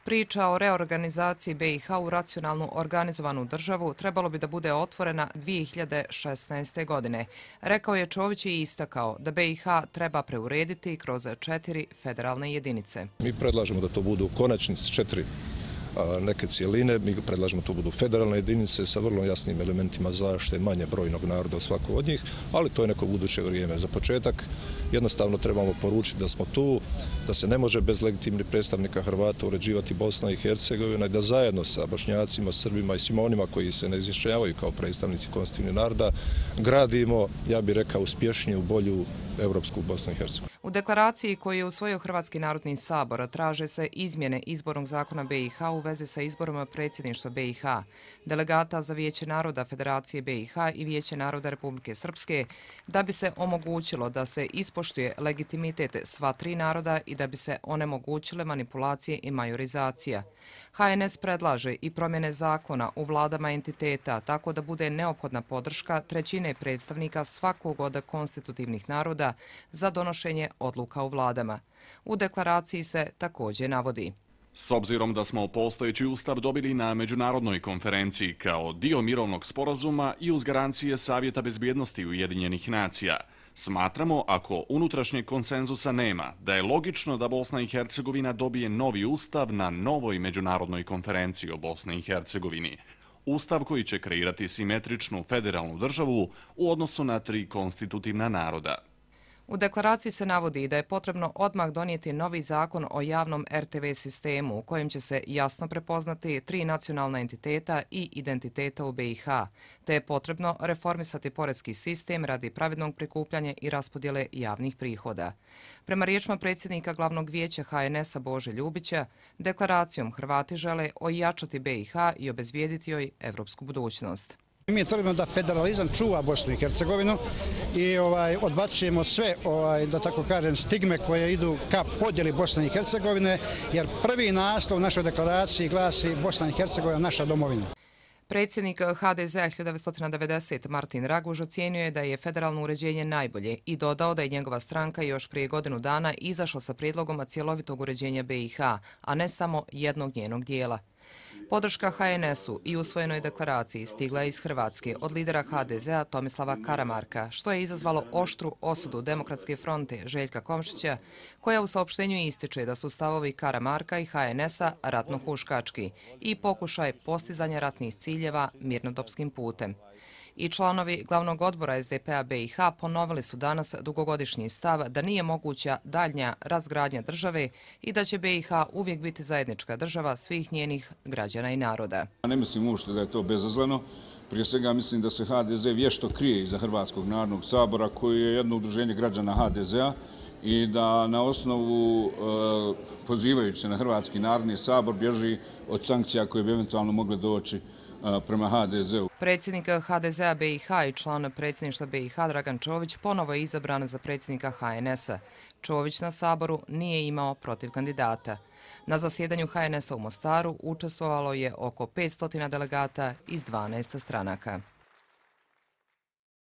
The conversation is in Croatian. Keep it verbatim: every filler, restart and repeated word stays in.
Priča o reorganizaciji B i H u racionalno organizovanu državu trebalo bi da bude otvorena dvije hiljade šesnaeste. godine. Rekao je Čović i istakao da B i H treba preurediti kroz četiri federalne jedinice. Mi predlažemo da to budu u konačnici četiri neke cijeline. Mi predlažemo da to budu federalne jedinice sa vrlo jasnim elementima zaštite manje brojnog naroda u svaku od njih, ali to je neko buduće vrijeme. Za početak jednostavno trebamo poručiti da smo tu, da se ne može bez legitimnih predstavnika Hrvata uređivati Bosna i Hercegovina i da zajedno sa Bošnjacima, Srbima i svima onima koji se ne izjašnjavaju kao predstavnici konstitutivnih naroda gradimo, ja bih rekao, uspješniju, bolju evropsku Bosnu i Hercegovinu. U deklaraciji koju je usvojio Hrvatski narodni sabor traže se izmjene izbornog zakona B i H u vezi sa izborom predsjedništva B i H, delegata za Vijeće naroda Federacije B i H i Vijeće naroda Republike Srpske, da bi se omogućilo da se ispoštuje legitimitet sva tri naroda i da bi se onemogućile manipulacije i majorizacija. H N S predlaže i promjene zakona u vladama entiteta tako da bude neophodna podrška trećine predstavnika svakog od konstitutivnih naroda za donošenje odluka u vladama. U deklaraciji se također navodi: S obzirom da smo postojeći ustav dobili na međunarodnoj konferenciji kao dio mirovnog sporazuma i uz garancije Savjeta bezbjednosti Ujedinjenih nacija, smatramo, ako unutrašnjeg konsenzusa nema, da je logično da Bosna i Hercegovina dobije novi ustav na novoj međunarodnoj konferenciji o Bosni i Hercegovini. Ustav koji će kreirati simetričnu federalnu državu u odnosu na tri konstitutivna naroda. U deklaraciji se navodi da je potrebno odmah donijeti novi zakon o javnom R T V sistemu u kojem će se jasno prepoznati tri nacionalna entiteta i identiteta u B i H, te je potrebno reformisati poreski sistem radi pravednog prikupljanja i raspodjele javnih prihoda. Prema riječima predsjednika Glavnog vijeća H N S-a Bože Ljubića, deklaracijom Hrvati žele ojačati B i H i obezbijediti joj evropsku budućnost. Mi tvrdimo da federalizam čuva Bosnu i Hercegovinu i ovaj, odbacujemo sve, ovaj, da tako kažem, stigme koje idu ka podjeli Bosne i Hercegovine, jer prvi naslov u našoj deklaraciji glasi Bosna i Hercegovina naša domovina. Predsjednik H D Z-a hiljadu devetsto devedesete. Martin Raguž ocijenio je da je federalno uređenje najbolje i dodao da je njegova stranka još prije godinu dana izašla sa prijedlogom cjelovitog uređenja B i H, a ne samo jednog njenog dijela. Podrška H N S-u i usvojenoj deklaraciji stigla je iz Hrvatske od lidera H D Z-a Tomislava Karamarka, što je izazvalo oštru osudu Demokratske fronte Željka Komšića, koja u saopštenju ističe da su stavovi Karamarka i H N S-a ratno-huškački i pokušaj postizanja ratnih ciljeva mirnodopskim putem. I članovi glavnog odbora S D P-a B i H ponovili su danas dugogodišnji stav da nije moguća daljnja razgradnja države i da će B i H uvijek biti zajednička država svih njenih građana i naroda. Ne mislim uopšte da je to bezazleno. Prije svega mislim da se H D Z vješto krije iza Hrvatskog narodnog sabora koji je jedno udruženje građana H D Z-a i da na osnovu pozivajući se na Hrvatski narodni sabor bježi od sankcija koje bi eventualno mogle doći prema H D Z-u. Predsjednik H D Z-a B i H i član predsjedništva B i H Dragan Čović ponovo je izabran za predsjednika H N S-a. Čović na saboru nije imao protiv kandidata. Na zasjedanju H N S-a u Mostaru učestvovalo je oko petsto delegata iz dvanaest stranaka.